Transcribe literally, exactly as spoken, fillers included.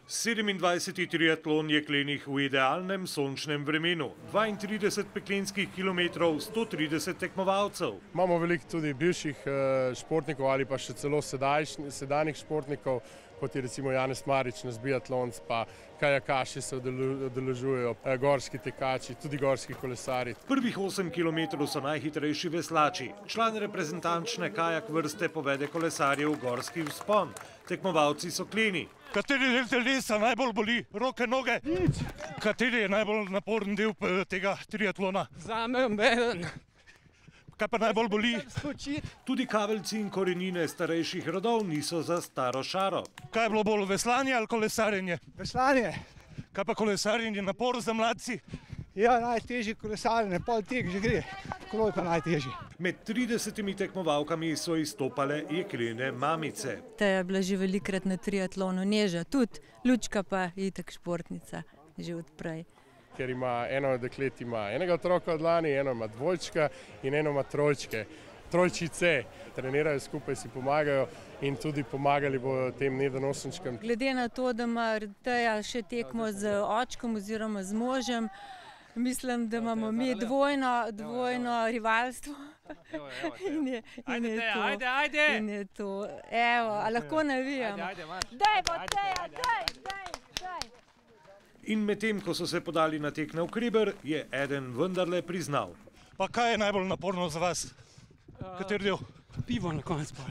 sedemindvajseti triatlon jeklenih v idealnem sončnem vremenu. dvaintrideset peklenskih kilometrov, sto trideset tekmovalcev. Imamo veliko tudi bivših športnikov ali pa še celo sedanjih športnikov, kot je recimo Janez Marič, naš biatlonec, pa kajakaši se udeležujejo, gorski tekači, tudi gorski kolesarji. Prvih osem kilometrov so najhitrejši veslači. Član reprezentančne kajak vrste povede kolesarjev gorski vzpon. Tekmovalci so kleni. Kateri del telesa najbolj boli? Roke, noge? Nič. Kateri je najbolj naporen del tega triatlona? Zame obeden. Kaj pa najbolj boli? Tudi kaveljci in korenine starejših rodov niso za staro šaro. Kaj je bilo bolj, veslanje ali kolesarjenje? Veslanje. Kaj pa kolesarjenje, napor za mladci? Ja, najtežji kolesarjenje, pol tek že gre, kolo je pa najtežji. Med tridesetimi tekmovalkami so izstopale jeklene mamice. Ta je bila že velikrat na triatlonu, Neža tudi, Lučka pa je itak športnica že odprej. Ker ima eno od deklet ima enega otroka od lani, eno ima dvojčka in eno ima trojčke. Trojčice trenirajo skupaj, si pomagajo in tudi pomagali bodo tem nedonosenčkam. Glede na to, da ima Teja še tekmo z očkom oziroma z možem, mislim, da imamo mi dvojno, dvojno rivalstvo. In je, in je to. Ajde, ajde! In je to. Evo, a lahko navijamo. Daj bo Teja, daj, daj, daj! In medtem, ko so se podali na tek navkreber, je eden vendarle priznal. Pa kaj je najbolj naporno za vas? Kateri del? Pivo na konec pa.